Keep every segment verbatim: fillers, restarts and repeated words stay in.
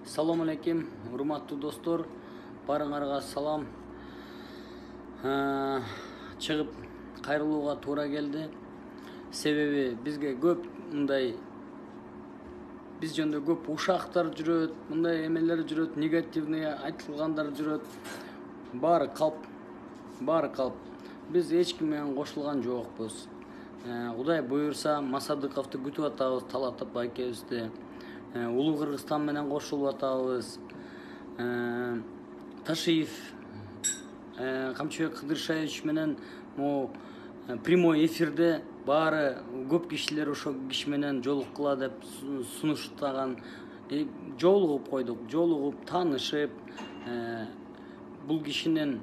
Салам алейкум, урматтуу достор. Барыңарга салам. Чыгып кайрылууга туура келди. Себеби бизге көп мындай биз жөнүндө көп ушактар жүрөт, мындай эмелер жүрөт, негативный айтылгандар жүрөт. Баары калп, баары калп. Биз эч ким менен кошулган жокпуз. Кудай буюрса, Масадыковду күтүп атабыз, Талат байкебизди. Улуу Кыргызстан менен кошулуп атабыз. Ташиев, Камчыбек Кыдыршевич менен могу прямой эфирде баары көп кишилер ошол киши менен жолуккула деп сунуштаган. Жолугуп койдук, жолугуп, таанышып, бул кишинин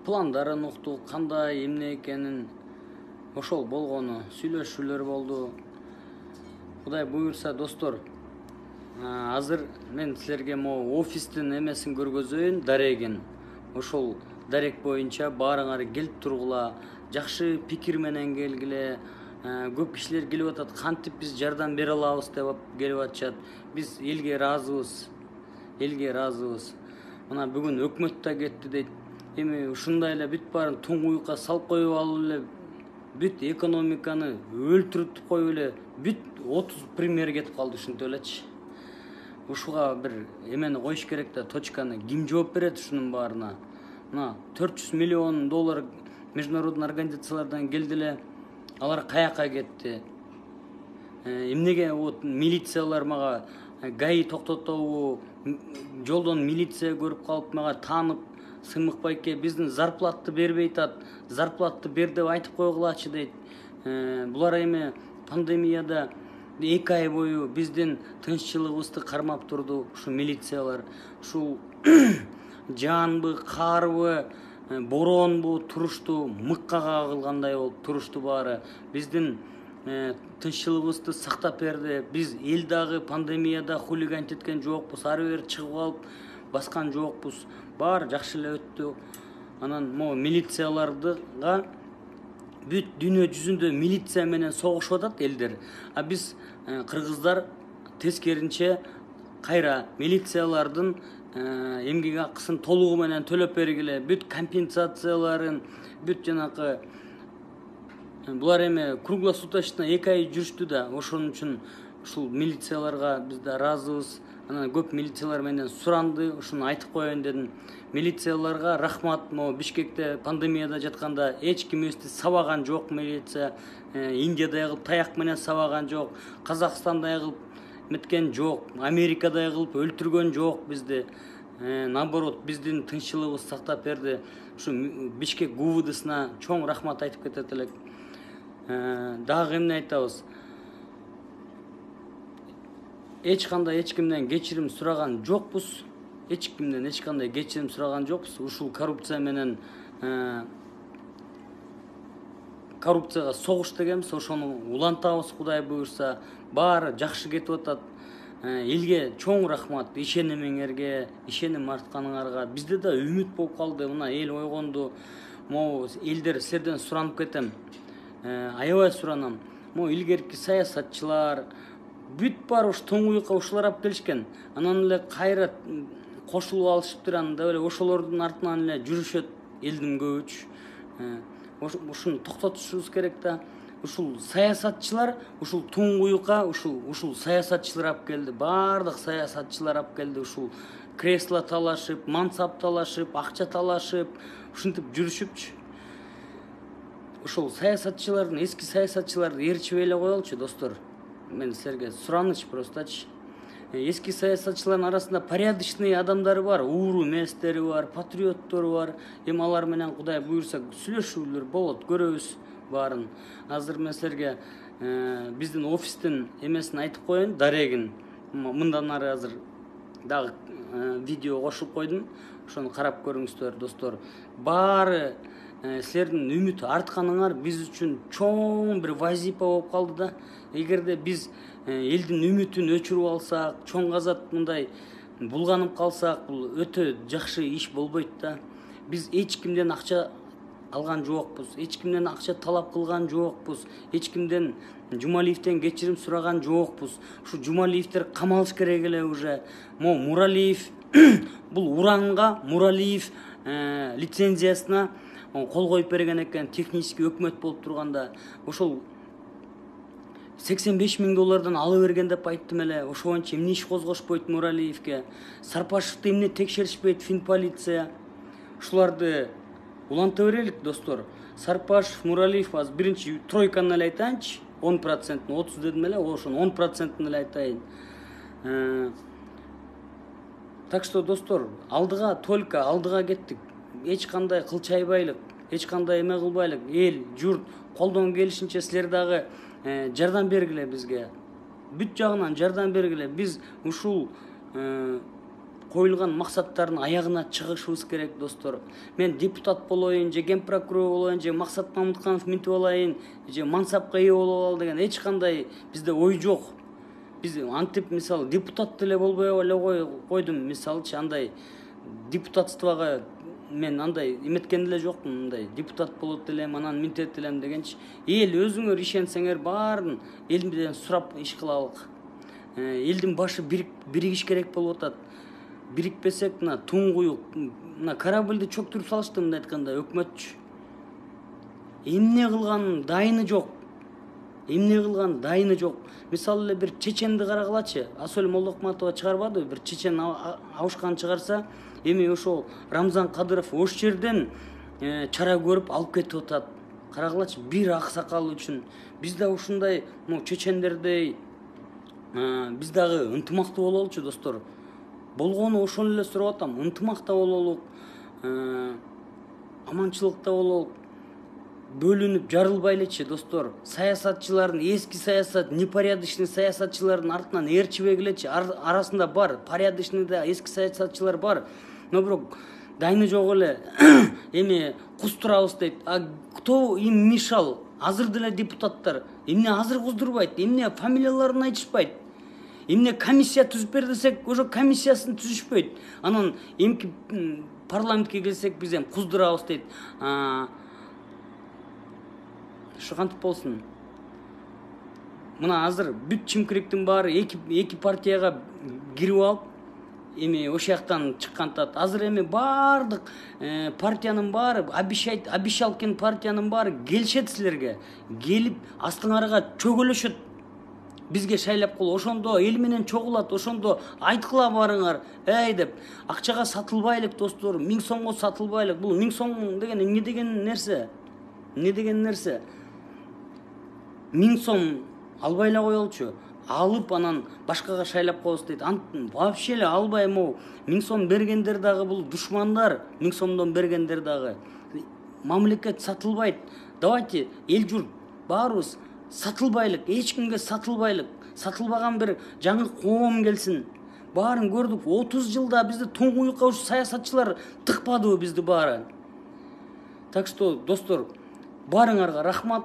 пландарын уктук, кандай эмне экенин, ошол болгону, сүйлөшүүлөр болду. Кудай буюрса, достор, азыр мен силерге могу офистин эмесин көргөзөйүн, дарегин. Ошол дарек боюнча баарыңар келип тургула, жакшы пикир менен келгиле. Көп кишилер келип атат, кантип биз жардам бере алабыз деп келип атышат. Биз элге ыраазыбыз, элге ыраазыбыз. Мына бүгүн өкмөт да кетти дейт. Эми ушундай эле бүт баарын туңгуюкка салып коюп алып эле, бүт экономиканы өлтүрүп коюп эле, бүт отуз премьер кетип калды, ушинтип элечи. Ушуга бир эмени коюш керек да, точканы. Ким жооп берет ушунун баарына? Мына төрт жүз миллион доллар международный организациялардан келди эле. Алар каяка кетти? Эмнеге вот милициялар мага гаи токтотобу, жолдон милиция көрүп калып мага таанып, Сымык байке биздин зарплатты бербей атат, зарплатты бер деп айтып койгулачы дейт. Булар эми пандемияда эки ай бою биздин тынччылыгыбызды кармап турду ушу милициялар. Ушул жаанбы, каарбы, боронбу турушту, мыкка кагылгандай болуп турушту баары. Биздин тынччылыгыбызды сактап берди. Биз эл дагы пандемияда хулиган эткен жокпуз, ары бери чыгып алып баскан жокпуз. Баары жакшы эле өттү. Анан могу милициялардыга бүт дүйнө жүзүндө милиция менен согушуп атат элдер. А биз кыргыздар тескеринче кайра милициялардын эмгек акысын толугу менен төлөп бергиле, бүт компенсацияларын, бүт жанакы булар эми круглосуточно эки ай жүрүштү да, ошон үчүн ушул милицияларга биз да ыраазыбыз. Анан көп милициялар менен суранды, ушуну айтып коеюн дедим. Милицияларга рахмат. Могу Бишкекте пандемияда жатканда эч кимибизди сабаган жок милиция. Индиядай кылып таяк менен сабаган жок, Казакстандай кылып меткен жок, Америкадай кылып өлтүргөн жок бизди. Наоборот, биздин тынччылыгыбызды сактап берди. Ушу Бишкек ГУВДсына чоң рахмат айтып кетет элек. Дагы эмне айтабыз? Эч кандай эч кимден кечирим сураган жокпуз. Эч кимден эч кандай кечирим сураган жокпуз. Ушул коррупция менен коррупцияга согуш дегенбиз, ошону улантабыз Кудай буюрса. Баары жакшы кетип атат. Элге чоң рахмат, ишенимиңерге, ишеним артканыңарга. Бизде да үмүт болуп калды. Мына эл ойгонду. Могу элдер силерден суранып кетем. Аябай суранам. Могу илгерки саясатчылар бүт баары ушу туңгуюкка ушулар алып келишкен. Анан эле кайра кошулуп алышыптыр, анда эле ошолордун артынан эле жүрүшөт элдин көбүчү. Ушуну токтотушубуз керек да. Ушул саясатчылар ушул туңгуюкка ушул ушул саясатчылар алып келди. Баардык саясатчылар алып келди. Ушул кресло талашып, мансап талашып, акча талашып, ушинтип жүрүшүпчү. Ушул саясатчылардын, эски саясатчыларды ээрчибей эле коелучу, достор. Мен силерге сураныч простачы. Эски саясатчылардын арасында порядочный адамдары бар, ууру эместери бар, патриоттору бар. Эми алар менен Кудай буюрса сүйлөшүүлөр болот, көрөбүз баарын. Азыр мен силерге биздин офистин эмесин айтып коеюн, дарегин. Мындан ары азыр дагы видео кошуп койдум. Ошону карап көрүңүздөр, достор. Баары силердин үмүт артканыңар биз үчүн чоң бир вазипа болуп калды да. Эгерде биз элдин үмүтүн өчүрүп алсак, чоң казат мындай булганып калсак, бул өтө жакшы иш болбойт да. Биз эч кимден акча алган жокпуз, эч кимден акча талап кылган жокпуз, эч кимден Жумалиевден кечирим сураган жокпуз. Ушу Жумалиевдер камалыш керек эле уже. Мо Муралиев бул уранга Муралиев лицензиясына кол коюп берген экен, технический өкмөт болуп турганда. Ошол сексен беш миң доллардан ала берген деп айттым эле. Ошо боюнча эмне иш козгошпойт Муралиевге? Сарпашевди эмне текшеришпейт Финполиция? Ушуларды уланта берелик, достор. Сарпашев, Муралиев аз биринчи тройканы эле айтайынчы. он процент, отуз дедим эле, ошонун он процентин эле айтайын. Так что, достор, алдыга только алдыга кеттик. Эч кандай кылчайбайлык, эч кандай эме кылбайлык. Эл, журт колдон келишинче силер дагы жардам бергиле бизге. Бүт жагынан жардам бергиле. Биз ушул коюлган максаттардын аягына чыгышыбыз керек, достор. Мен депутат болоюн, же ген прокурор болоюн, же Максат Мамытканов минтип алайын, же мансапка ээ болуп ал деген эч кандай бизде ой жок. Биз антип, мисалы, депутат деле болбой эле койдум, мисалычы, андай депутатствого мен андай эметкен деле жокмун, мындай депутат болот элем, анан минтет элем дегенчи. Эл өзүңөр ишенсеңер баарын эл менен сурап иш кылалык. Элдин башы биригиш керек болуп атат. Бирикпесек, мына туңгуюк, мына корабльди чөктүрүп салышты, мындай айтканда, өкмөтчү. Эмне кылганын дайыны жок. Эмне кылган дайыны жок. Мисалы эле бир чеченди карагылачы. Асөл Молдокматова чыгарбады, бир чечен абышкан чыгарса, эми ошол Рамзан Кадыров ош жерден чара көрүп алып кетип атат. Карагылачы, бир аксакал үчүн. Биз да ушундай чечендердей биз дагы ынтымактуу бололучу, достор. Болгону ошону эле сурап атам. Ынтымакта бололук, аманчылыкта бололук. Бөлүнүп жарылбайлычы, достор. Саясатчылардын, эски саясат, непорядочный саясатчылардын артынан ээрчибегилечи. Арасында бар, порядочный да эски саясатчылар бар. Но бирок дайыны жок эле. Эми куздурабыз дейт. А кто им мешал? Азыр деле депутаттар эмне азыр куздурбайт? Эмне фамилияларын айтышпайт? Эмне комиссия түзүп бер десек, ошо комиссиясын түзүшпөйт. Анан эмки парламентке келсек биз эм куздурабыз дейт. Ошо кантип болсун? Мына азыр бүт чимкириктин баары эки эки партияга кирип алып, эми ошол жактан чыккантат. Азыр эми баардык партиянын баары, обещать, обещалкен партиянын баары келишет силерге. Келип астыңарга чөгөлөшөт. Бизге шайлап кол, ошондо эл менен чогулат, ошондо айткыла барыңар, эй деп. Акчага сатылбайлык, достор, миң сомго сатылбайлык. Бул миң сом деген эмне деген нерсе? Эмне деген нерсе? Миң сом албай эле коелучу. Алып анан башкага шайлап коебуз дейт. Вообще эле албай, могу миң сом бергендер дагы бул душмандар, миң сомдон бергендер дагы. Мамлекет сатылбайт. Давайте эл журт баарыбыз сатылбайлык, эч кимге сатылбайлык. Сатылбаган бир жаңы коом келсин. Баарын көрдүк. отуз жылда бизди туңгуюкка ушу саясатчылар тыкпадыбы бизди баары. Так что, достор, баарыңарга рахмат.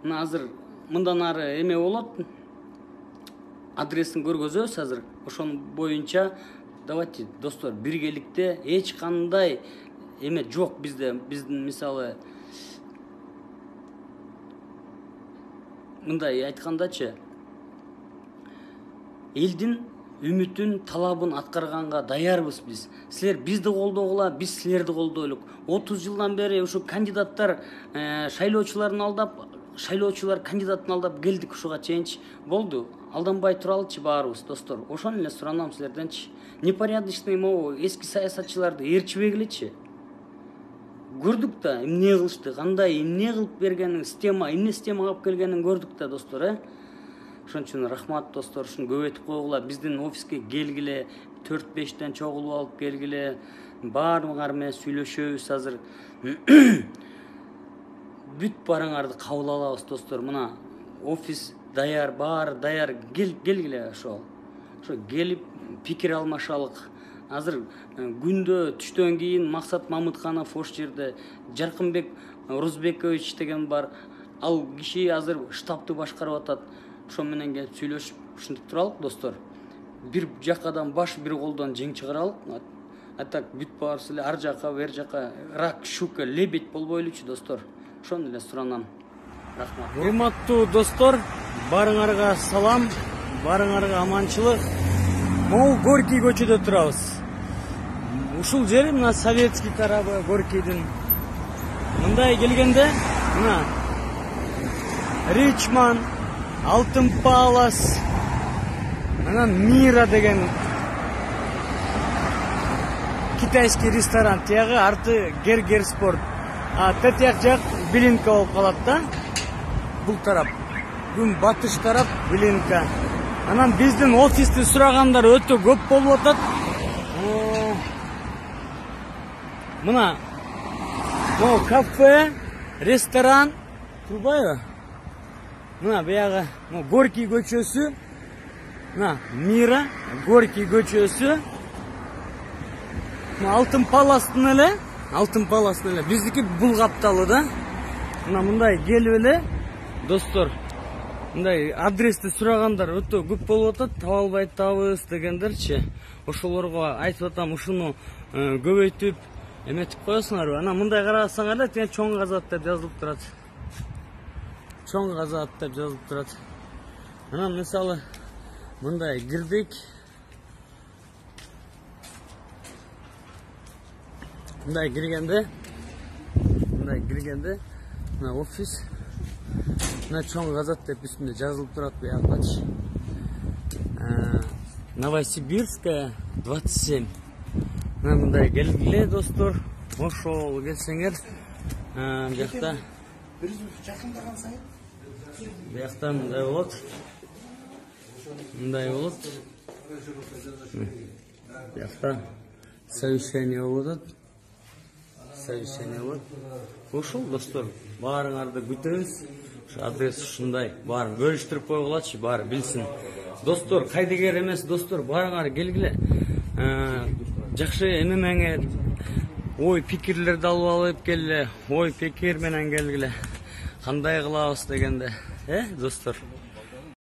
Мына азыр мындан ары эме болот. Адресин көргөзөбүз азыр. Ошонун боюнча давайте, достор, биргеликте эч кандай эме жок бизде. Биздин мисалы мындай айткандачы, элдин үмүтүн, талабын аткарганга даярбыз биз. Силер бизди колдогула, биз силерди колдойлук. отуз жылдан бери ушу кандидаттар шайлоочуларын алдап, шайлоочулар кандидатын алдап келдик ушуга чейинчи. Болду. Алданбай туралычы баарыбыз, достор. Ошону эле суранам силерденчи. Непорядочный могу эски саясатчыларды ээрчибегилечи. Көрдүк да, эмне кылышты, кандай, эмне кылып бергенин, система, эмне система алып келгенин көрдүк да, достор, э? Ошон үчүн рахмат, достор, ушуну көбөйтүп койгула. Биздин офиске келгиле, төрт бештен чогулуп алып келгиле. Баарыңар менен сүйлөшөбүз азыр. Бүт барыңарды кабыл алабыз, достор. Мына офис даяр, баары даяр. Кел, келгиле ошол. Ошо келип пикир алмашалык. Азыр күндө түштөн кийин Максат Мамытканов ош жерде, Жаркынбек Рузбекович деген бар. Ал киши азыр штабты башкарып атат. Ошо менен келип сүйлөшүп, ушинтип туралык, достор. Бир жакадан баш, бир колдон жең чыгаралык. А так бүт баарыбыз эле ар жака, бер жака рак, щука, лебедь болбойлучу, достор. Ошону эле суранам. Рахмат. Урматтуу достор, баарыңарга салам, баарыңарга аманчылык. Могу Горький көчөдө турабыз. Ушул жери мына советский тарабы Горькийдин. Мындай келгенде мына Ричман, Алтын Палас, анан Мира деген китайский ресторан, тиягы арты Гергер Спорт. А тетияк жак Билинка болуп калат да. Бул тарап. Күн батыш тарап Билинка. Анан биздин офисти сурагандар өтө көп болуп атат. Мына могу кафе, ресторан турбайбы? Мына биягы Горький көчөсү. Мына Мира, Горький көчөсү. Алтын Паластын эле, Алтын Паластын эле. Биздики бул капталы да. Мына мындай келип эле, достор. Мындай адрести сурагандар өтө көп болуп атат. Таба албай атабыз дегендерчи. Ошолорго айтып атам, ушуну көбөйтүп эметип коесуңарбы? Анан мындай карасаңар эле, тиң чоң казат деп жазылып турат. Чоң казат деп жазылып турат. Анан мисалы мындай кирдик. Мындай киргенде, мындай киргенде, мына офис, мына чоң казат деп үстүндө жазылып турат буякачы. Новосибирская двадцать семь. Мына мындай келгиле, достор. Ошол келсеңер, биякта жакындарган сайын биякта мындай болот. Мындай болот. Биякта совещание болуп атат. Совещание болот. Ошол достор, баарыңарды күтөбүз. Ушу адрес ушундай. Баарын бөлүштүрүп койгулачы, баары билсин. Достор, кайдыгер эмес, достор, баарыңар келгиле. Жакшы эмемеңер, ой пикирлерди алып алып келгиле, ой пикир менен келгиле. Кандай кылабыз дегенде, э, достор?